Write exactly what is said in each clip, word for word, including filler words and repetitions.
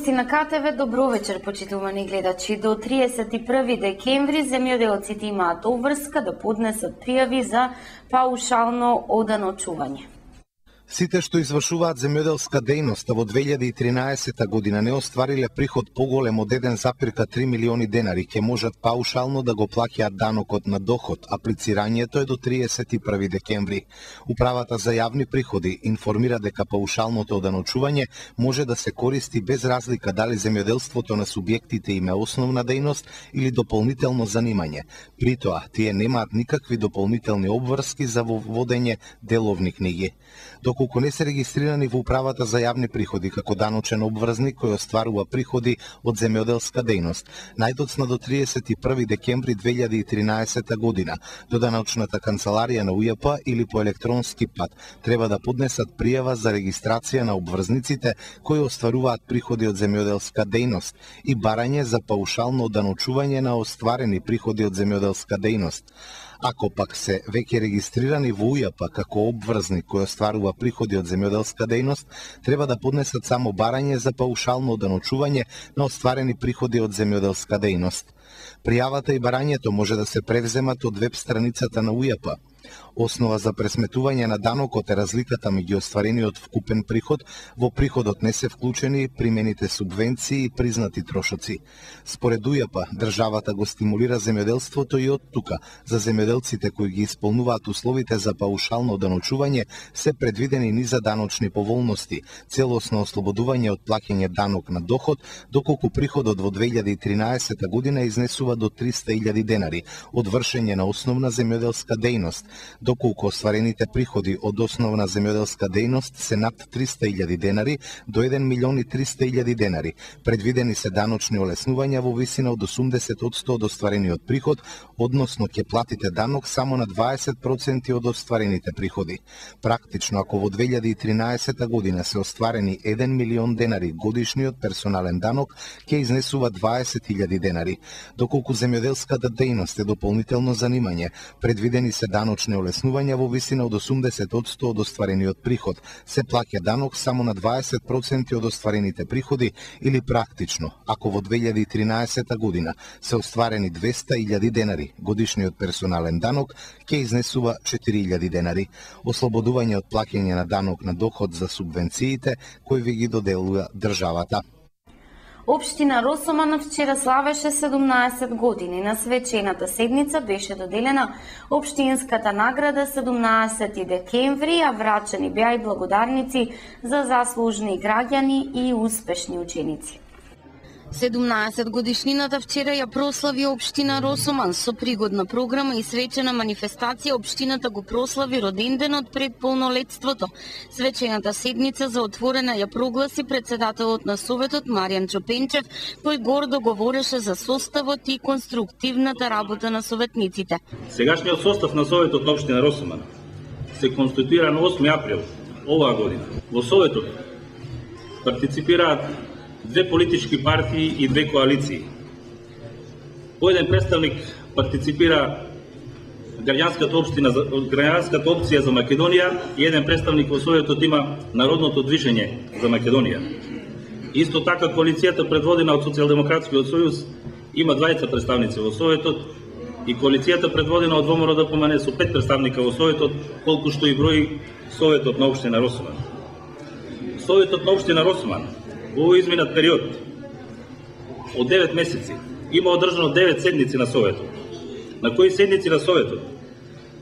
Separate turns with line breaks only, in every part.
Вести на К Т В, добро вечер, почитувани гледачи. До триесет и први декември земјоделците имаат обврска да поднесат пријави за паушално оданочување.
Сите што извршуваат земјоделска дејност во две илјади и тринаесета година не оствариле приход поголем од еден запирка три милиони денари, ќе можат паушално да го плаќаат данокот на доход. Аплицирањето е до триесет и први декември. Управата за јавни приходи информира дека паушалното оданочување може да се користи без разлика дали земјоделството на субјектите им е основна дејност или дополнително занимање. При тоа, тие немаат никакви дополнителни обврски за водење деловни книги. Доколку не се регистрирани во Управата за јавни приходи како даночен обврзник кој остварува приходи од земјоделска дејност, најдоцна до триесет и први декември две илјади и тринаесета година, до даночната канцеларија на У Ј П или по електронски пат треба да поднесат пријава за регистрација на обврзниците кои остваруваат приходи од земјоделска дејност и барање за паушално даночување на остварени приходи од земјоделска дејност. Ако пак се веќе регистрирани во У Ј П како обврзник кој остварува приходи од земјоделска дејност, треба да поднесат само барање за паушално даночување на остварени приходи од земјоделска дејност. Пријавата и барањето може да се превземат од веб страницата на У Ј П. Основа за пресметување на данокот е разликата меѓу остварениот вкупен приход, во приходот не се вклучени примените субвенции и признати трошоци. Според У Ј П, државата го стимулира земјоделството и од тука, за земјоделците кои ги исполнуваат условите за паушално даночување, се предвидени низа даночни поволности, целосно ослободување од плаќање данок на доход, доколку приходот во две илјади и тринаесета година изнесува до триста илјади денари од вршење на основна земјоделска дејност, доколку остварените приходи од основна земјоделска дејност се над триста илјади денари до еден милион и триста илјади денари. Предвидени се даночни олеснувања во висина од осумдесет одсто од остварениот приход, односно ќе платите данок само на дваесет проценти од остварените приходи. Практично, ако во две илјади и тринаесета година се остварени еден милион денари, годишниот персонален данок ќе изнесува дваесет илјади денари. Доколку земјоделската дејност е дополнително занимање, предвидени се даночни олеснувања во висина од осумдесет одсто од остварениот приход, се плаќа данок само на дваесет проценти од остварените приходи или практично, ако во две илјади и тринаесета година се остварени двеста илјади денари, годишниот персонален данок ќе изнесува четири илјади денари. Ослободување од плаќање на данок на доход за субвенциите кои ви ги доделува државата.
Општина Росоман вчера славеше седумнаесет години. На свечената седница беше доделена општинската награда седумнаесети декември, а врачени беа и благодарници за заслужни граѓани и успешни ученици.
седумнаесет годишнината вчера ја прослави општина Росоман со пригодна програма и свечена манифестација. Општината го прослави роденденот пред полнолетството. Свечената седница за отворена ја прогласи председателот на Советот Маријан Чопенчев, кој гордо говореше за составот и конструктивната работа на советниците.
Сегашниот состав на Советот на општина Росоман се конституира на осми април оваа година. Во Советот партиципираат две политички партии и две коалиции. По еден представник партиципира граѓанската општина, граѓанската опција за Македонија и еден представник во Советот има Народното движење за Македонија. Исто така коалицијата предводена од Социјалдемократскиот сојуз има двајца представници во Советот и коалицијата предводена од ВМРО Д П М Н со пет представника во Советот, колку што и брои Советот на општина Росоман. Советот на општина Росоман во овој изминат период од девет месеци има одржано девет седници на Советот, на кои седници на Советот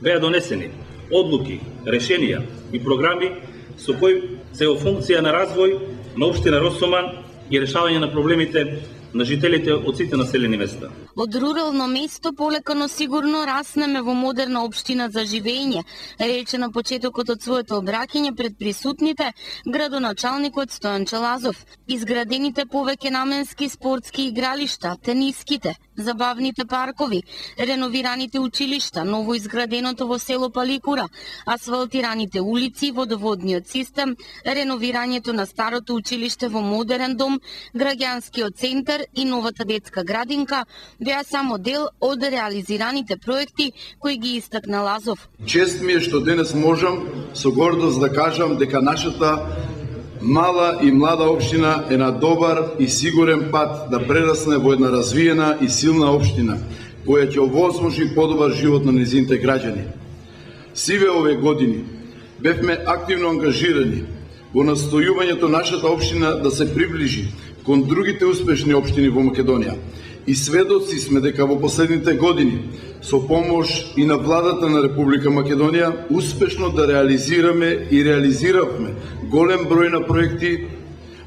беа донесени одлуки, решенија и програми со кои се во функција на развој на општина Росоман и решавање на проблемите на жителите од сите населени места.
Од рурално место полека но сигурно раснеме во модерна општина за живење, рече на почетокот од своето обраќање пред присутните градоначалникот Стојан Челазов. Изградените повеќе наменски спортски игралишта, тениските, забавните паркови, реновираните училишта, ново изграденото во село Паликура, асфалтираните улици, водоводниот систем, реновирањето на старото училиште во модерен дом, граѓанскиот центар и новата детска градинка беа само дел од реализираните проекти кои ги истакна Лазов.
Чест ми е што денес можам со гордост да кажам дека нашата Мала и млада општина е на добар и сигурен пат да прерасне во една развиена и силна општина, која ќе овозможи подобар живот на незините граѓани. Сиве ове години бевме активно ангажирани во настојувањето нашата општина да се приближи кон другите успешни општини во Македонија. И сведоци сме дека во последните години, со помош и на владата на Република Македонија, успешно да реализираме и реализиравме голем број на проекти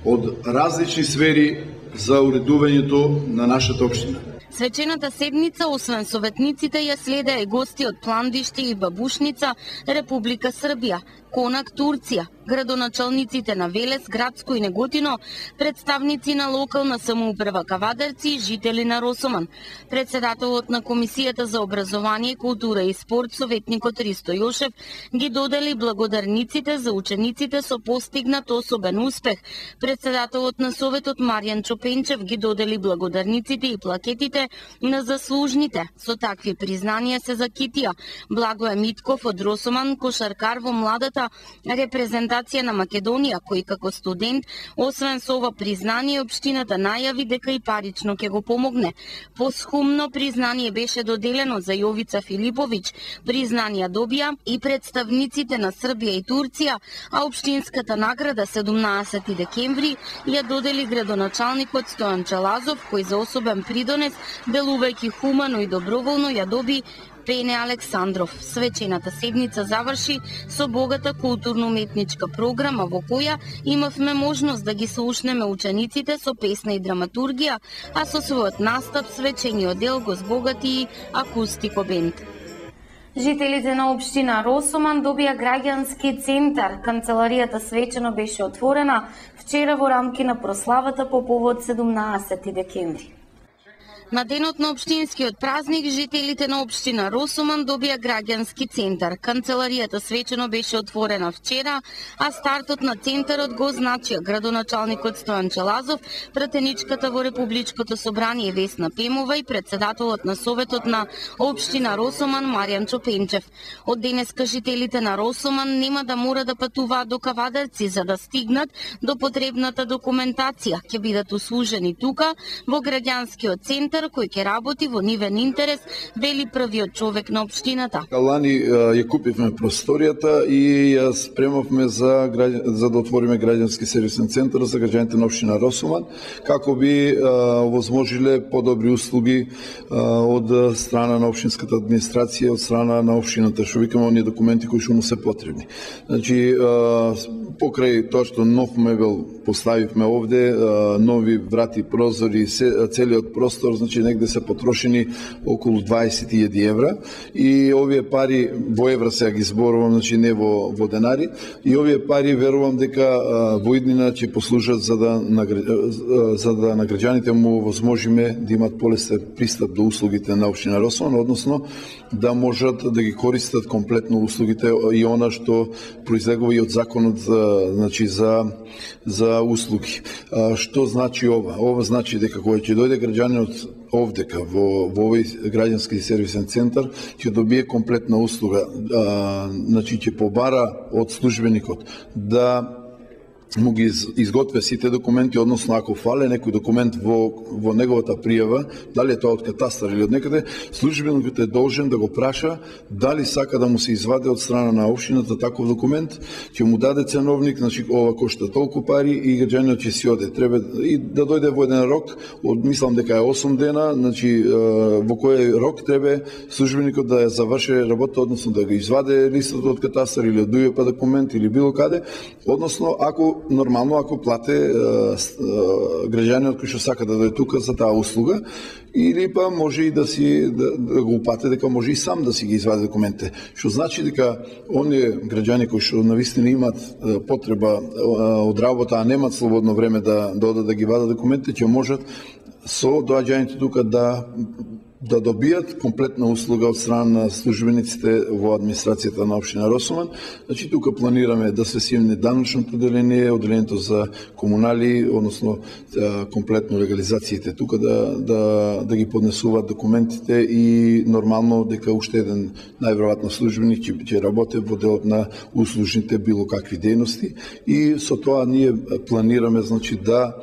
од различни сфери за уредувањето на нашата општина.
Свечената седница, освен советниците, ја следеа и гости од Пландиште и Бабушница, Република Србија, Конак, Турција, градоначалниците на Велес, Градско и Неготино, представници на локална самоуправа Кавадарци и жители на Росоман. Председателот на Комисијата за образование, култура и спорт, советникот Ристо Јошев, ги додели благодарниците за учениците со постигнат особен успех. Председателот на Советот Маријан Чопенчев ги додели благодарниците и плакетите на заслужните. Со такви признанија се закитија Благое Митков од Росоман, кошаркар во младата репрезентација на Македонија, кој како студент, освен со ова признание, општината најави дека и парично ќе го помогне. Посхумно признание беше доделено за Јовица Филиповиќ. Признанија добија и представниците на Србија и Турција, а општинската награда седумнаесети декември ја додели градоначалникот Стојан Челазов, кој за особен придонес, делувајќи хумано и доброволно, ја доби Пене Александров. Свечената седница заврши со богата културно-уметничка програма во која имавме можност да ги слушнеме учениците со песна и драматургија, а со својот настап свечениот дел го збогати и акустико бенд.
Жителите на општина Росоман добија граѓански центар. Канцеларијата свечено беше отворена вчера во рамки на прославата по повод седумнаесети декември.
На денот на општинскиот празник, жителите на општина Росоман добија граѓански центар. Канцеларијата свечено беше отворена вчера, а стартот на центарот го означија градоначалникот Стојан Челазов, пратеничката во Републичкото собрание Весна Пемова и председателот на Советот на општина Росоман Маријан Чопенчев. Од денеска жителите на Росоман нема да мора да патуваат до Кавадарци за да стигнат до потребната документација. Ќе бидат услужени тука во граѓанскиот центар кој ќе работи во нивен интерес, вели првиот човек на општината.
Лани ја купивме просторијата и ја спремавме за, за да отвориме граѓански сервисен центар за граѓаните на општина Росоман, како би возможиле подобри услуги а, од страна на општинската администрација, од страна на општината, што викаме оние документи кои што му се потребни. Значи, а, покрај тоа што нов мебел поставивме овде, а, нови врати, прозори, целиот простор, значи негде се потрошени околу дваесет илјади евра и овие пари во евра сега ги зборувам, значи не во, во денари, и овие пари верувам дека а, во иднина ќе послужат за да на, за да на граѓаните му возможиме да имат полесен пристап до услугите на општина Росоман, односно да можат да ги користат комплетно услугите и она што произлегува и од законот за, значи за за услуги. А, што значи ова? Ова значи дека кога ќе дојде граѓанинот овдека во, во овој граѓански сервисен центар, ќе добие комплетна услуга. А, значи ќе побара од службеникот да му ги изготвя сите документи, односно ако фале некој документ во, во неговата пријава, дали е тоа од катастар или од некаде, службеникот е должен да го праша дали сака да му се изваде од страна на општината таков документ, ќе му даде ценовник, значи ова кошта толку пари и граѓанинот ќе си оде. Треба и да дојде во еден рок, од мислам дека е осум дена, значи во кој рок треба службеникот да ја заврши работа, односно да го изваде листот од катастар или од ДУЈП документ или било каде, односно ако нормално ако плате граѓанинот кој што сака да дојде тука за таа услуга, или па може и да си да, да го упате дека може и сам да си ги извади документите. Што значи дека оние граѓани кои што навистина имаат потреба од работа, а немаат слободно време да да одат да ги вадат документите, ќе можат со доаѓањето тука да да добијат комплетна услуга од страна на службениците во администрацијата на општина Росоман. Значи тука планираме да се симне даночното одделение, одделението за комунали, односно комплетно легализациите тука да да да ги поднесуваат документите и нормално дека уште еден најверојатно службеник ќе ќе работи во делот на услужните било какви дејности и со тоа ние планираме значи да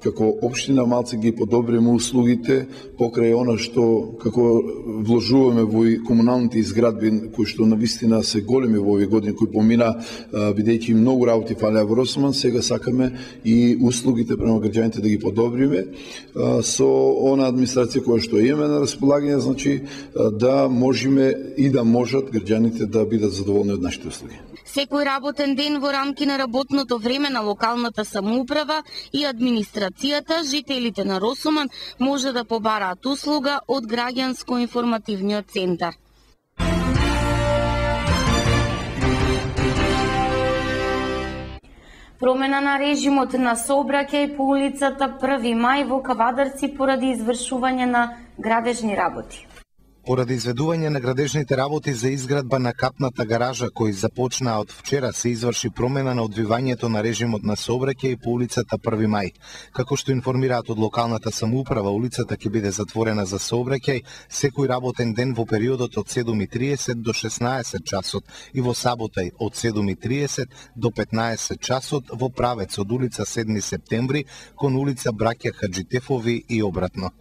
како општина малце ги подобриме услугите покрај она што како вложуваме во комуналните изградби кои што навистина се големи во овие години кои помина бидејќи многу работи фалеа во Росоман, сега сакаме и услугите према граѓаните да ги подобриме со она администрација која што имаме на располагање, значи да можеме и да можат граѓаните да бидат задоволни од нашите услуги.
Секој работен ден во рамки на работното време на локалната самоуправа и администрацијата, жителите на Росоман може да побараат услуга од граѓанско-информативниот центар.
Промена на режимот на сообраќај по улицата Први мај во Кавадарци поради извршување на градежни работи.
Поради изведување на градежните работи за изградба на капната гаража кои започнаа од вчера, се изврши промена на одвивањето на режимот на сообраќај по улицата Први мај. Како што информираат од локалната самоуправа, улицата ќе биде затворена за сообраќај секој работен ден во периодот од седум и триесет до шеснаесет часот и во сабота од седум и триесет до петнаесет часот во правец од улица седми септември кон улица Браќа Хаџитефови и обратно.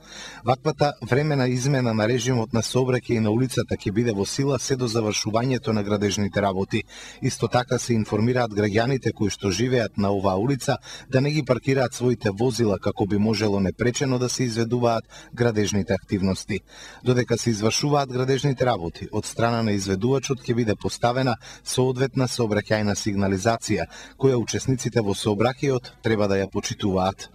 Ваквата времена измена на режимот на сообраќај на улицата ќе биде во сила се до завршувањето на градежните работи. Исто така се информираат граѓаните кои што живеат на оваа улица да не ги паркираат своите возила како би можело непречено да се изведуваат градежните активности. Додека се извршуваат градежните работи, од страна на изведувачот ќе биде поставена соодветна сообраќајна сигнализација, која учесниците во сообраќајот треба да ја почитуваат.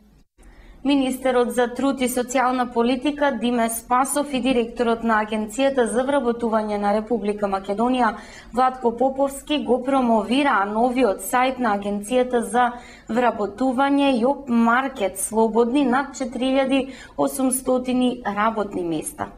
Министерот за труд и социјална политика Диме Спасов и директорот на Агенцијата за вработување на Република Македонија Владко Поповски го промовираа новиот сајт на Агенцијата за вработување Job Market, слободни над четири илјади и осумстотини работни места.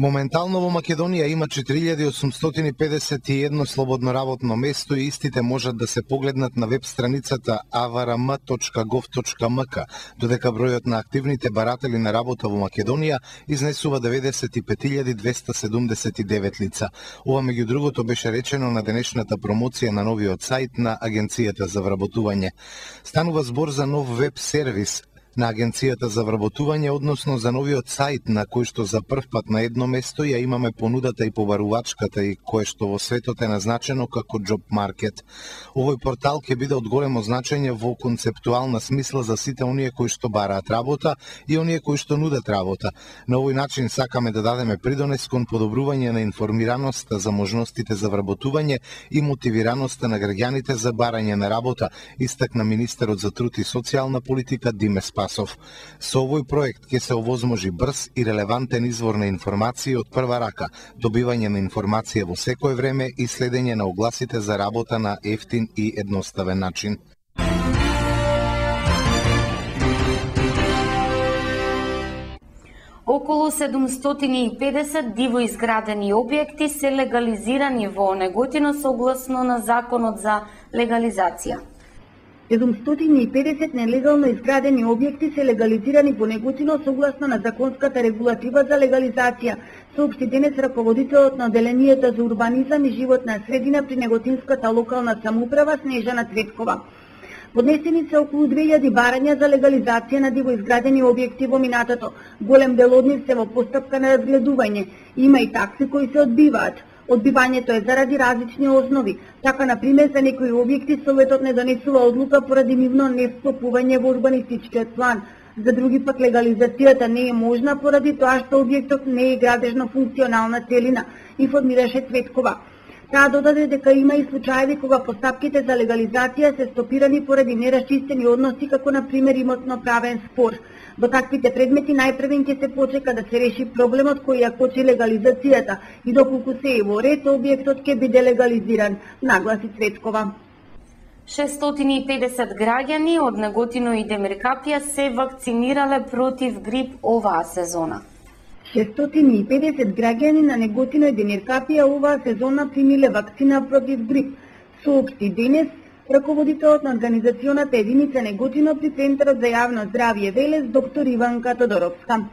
Моментално во Македонија има четири илјади осумстотини педесет и едно слободно работно место и истите можат да се погледнат на веб страницата а в р м точка гов точка м к, додека бројот на активните баратели на работа во Македонија изнесува деветдесет и пет илјади двеста седумдесет и девет лица. Ова меѓу другото беше речено на денешната промоција на новиот сајт на Агенцијата за вработување. Станува збор за нов веб сервис на Агенцијата за вработување, односно за новиот сајт на кој што за прв пат на едно место ја имаме понудата и побарувачката и кое што во светот е назначено како Job Market. Овој портал ќе биде од големо значење во концептуална смисла за сите оние кои што бараат работа и оние кои што нудат работа. На овој начин сакаме да дадеме придонес кон подобрување на информираноста за можностите за вработување и мотивираноста на граѓаните за барање на работа, истакна министерот за труд и социјална политика Диме Спасов. Со овој проект ќе се овозможи брз и релевантен извор на информации од прва рака, добивање на информација во секое време и следење на огласите за работа на ефтин и едноставен начин.
Околу седумстотини и педесет диво изградени објекти се легализирани во Неготино согласно на Законот за легализација.
седумстотини и педесет нелегално изградени објекти се легализирани во Неготино согласно на законската регулатива за легализација, соопшти денес раководителот на Одделението за урбанизам и животна средина при Неготинската локална самоуправа Снежана Цветкова. Поднесени се околу две илјади барања за легализација на диво изградени објекти во минатото. Голем дел од нив се во постапка на разгледување. Има и такси кои се одбиваат. Одбивањето е заради различни основи. Така, например, за некои објекти Советот не донесува одлука поради нивно невстапување во урбанистичкиот план. За други пак легализацијата не е можна поради тоа што објектот не е градежно функционална целина, информираше Цветкова. Таа додаде дека има и случаеви кога постапките за легализација се стопирани поради нерасчистени односи, како на пример имотно-правен спор. Во таквите предмети најпрвен ќе се почека да се реши проблемот кој ја кочи легализацијата и доколку се е во ред, објектот ќе биде легализиран, нагласи Цветкова.
шестстотини и педесет граѓани од Неготино и Демиркапија се вакцинирале против грип оваа сезона.
шестстотини и педесет граѓани на Неготино и Дениркапија оваа сезона примиле вакцина против грип, соопшти денес раководителот на организационата единица Неготино при Центарот за јавно здравје Велес, доктор Иванка Тодоровска.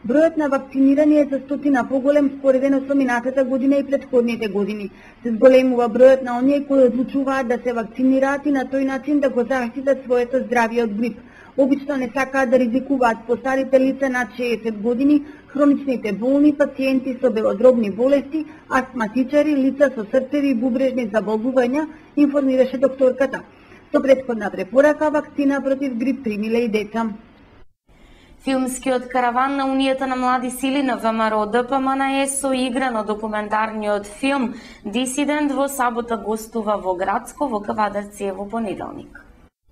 Бројот на вакцинирани е за стотина поголем споредено со минатата година и претходните години. Се зголемува бројот на оние кои одлучуваат да се вакцинираат и на тој начин да го заштитат своето здравје од грип. Обично не сакаат да ризикуваат постарите лица над шеесет години, хроничните болни, пациенти со белодробни болести, астматичари, лица со срцеви и бубрежни заболнувања, информираше докторката. Со претходна препорака вакцина против грип примиле и деца.
Филмскиот караван на Унијата на млади сили на ВМРО Д П М Н Е соиграно документарниот филм Дисидент во сабота гостува во Грацко во Кавадарци во понеделник.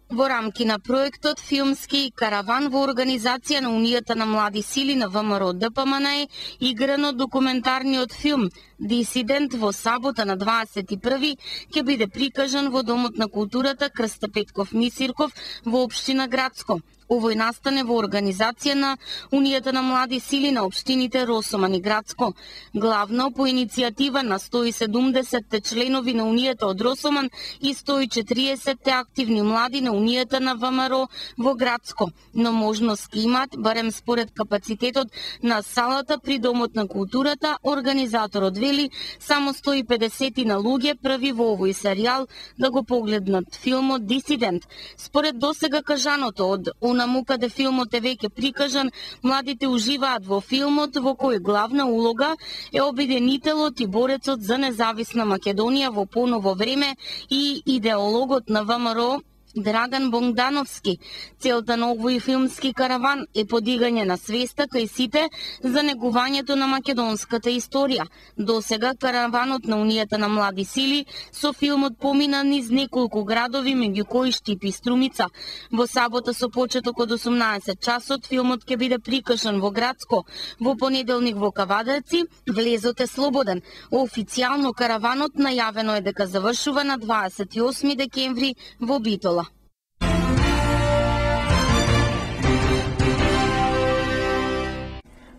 Во рамки на проектот Филмски караван во организација на Унијата на млади сили на ВМРО Д П М Н Е играно документарниот филм Дисидент во сабота на дваесет и први ќе биде прикажан во Домот на културата Крста Петков Мисирков во општина Грацко. Овој настане во организација на Унијата на млади сили на општините Росоман и Грацко. Главно по иницијатива на сто и седумдесетте членови на Унијата од Росоман и сто и четириесетте активни млади на Унијата на ВМРО во Грацко. Но можност ке имаат, барем според капацитетот на салата при Домот на културата, организаторот вели само сто и педесет на луѓе први во овој серијал да го погледнат филмот Дисидент. Според досега кажаното од онаму каде филмот е веќе прикажан, младите уживаат во филмот во кој главна улога е обединителот и борецот за независна Македонија во поново време и идеологот на ВМРО Драган Бондановски. Целта на овој филмски караван е подигање на свеста кај сите за негувањето на македонската историја. Досега караванот на Унијата на млади сили со филмот помина низ неколку градови, меѓу кои Штип и Струмица. Во сабота со почеток од осумнаесет часот филмот ќе биде прикажан во Грацко, во понеделник во Кавадарци. Влезот е слободен. Официјално караванот најавено е дека завршува на дваесет и осми декември во Битола.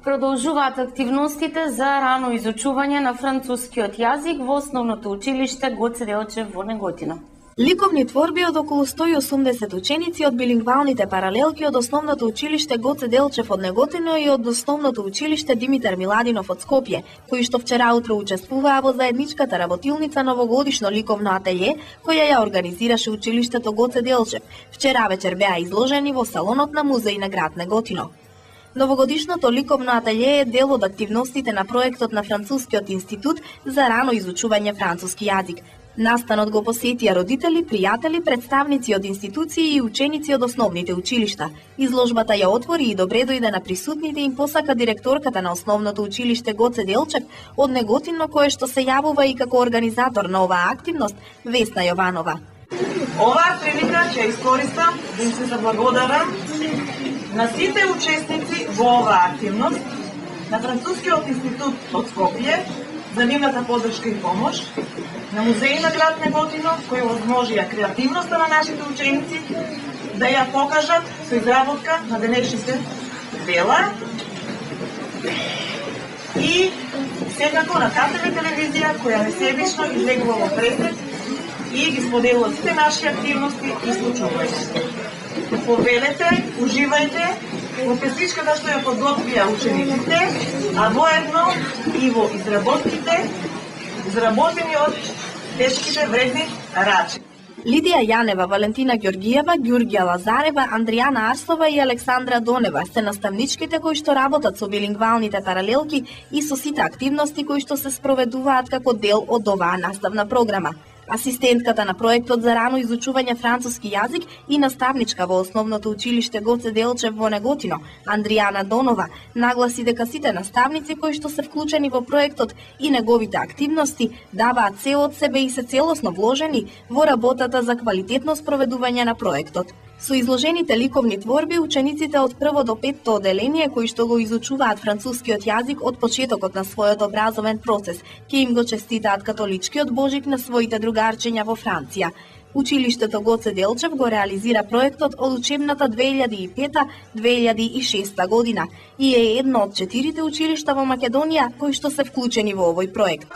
Продолжуваат активностите за рано изучување на францускиот јазик во основното училиште Гоце Делчев во Неготино.
Ликовни творби од околу сто и осумдесет ученици од билингвалните паралелки од основното училиште Гоце Делчев од Неготино и од основното училиште Димитар Миладинов од Скопје, кои што вчера утро учествуваа во заедничката работилница новогодишно ликовно ателје, која ја организираше училиштето Гоце Делчев. Вчера вечер беа изложени во салонот на музеј на град Неготино. Новогодишното ликовно ателје е дел од активностите на проектот на Францускиот институт за рано изучување француски јазик. Настанот го посетија родители, пријатели, представници од институции и ученици од основните училишта. Изложбата ја отвори и добре дојде на присутните им посака директорката на основното училиште Гоце Делчев од Неготино, кое што се јавува и како организатор на оваа активност, Весна Јованова.
Оваа прилика ќе искористам да им се заблагодарам на сите учесници во оваа активност, на Францускиот институт од Скопје за нивната поддршка и помош, на музеј на град Неготино кој овозможија креативноста на нашите ученици да ја покажат со изработка на денешните дела и секако на КТВ телевизија која несебично излегува во пресет и ги споделува сите наши активности и случувања. Повелете, уживајте во песничката што ја подготвија учениците, а воедно и во изработките, изработени од тешките вредни рачи.
Лидија Јанева, Валентина Ѓоргиева, Ѓурѓа Лазарева, Андријана Арсова и Александра Донева се наставничките кои што работат со билингвалните паралелки и со сите активности кои што се спроведуваат како дел од оваа наставна програма. Асистентката на проектот за рано изучување француски јазик и наставничка во основното училиште Гоце Делчев во Неготино, Андријана Донова, нагласи дека сите наставници кои што се вклучени во проектот и неговите активности даваат се од себе и се целосно вложени во работата за квалитетно спроведување на проектот. Со изложените ликовни творби, учениците од прво до петто оделение кои што го изучуваат францускиот јазик од почетокот на својот образовен процес, ќе им го честитаат католичкиот Божик на своите другарчиња во Франција. Училиштето Гоце Делчев го реализира проектот од учебната две илјади и пета - две илјади и шеста година и е едно од четирите училишта во Македонија кои што се вклучени во овој проект.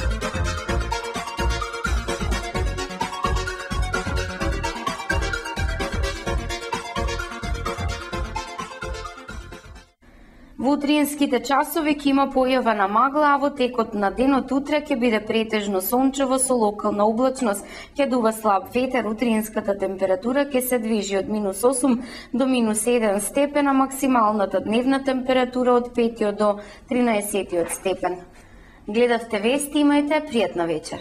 Во утринските часови ќе има појава на магла, а во текот на денот утре ќе биде претежно сончево со локална облачност. Ќе дува слаб ветер, утринската температура ќе се движи од минус осум до минус еден степен, а максималната дневна температура од пет до тринаесет степен. Гледавте вести, имајте пријатна вечер.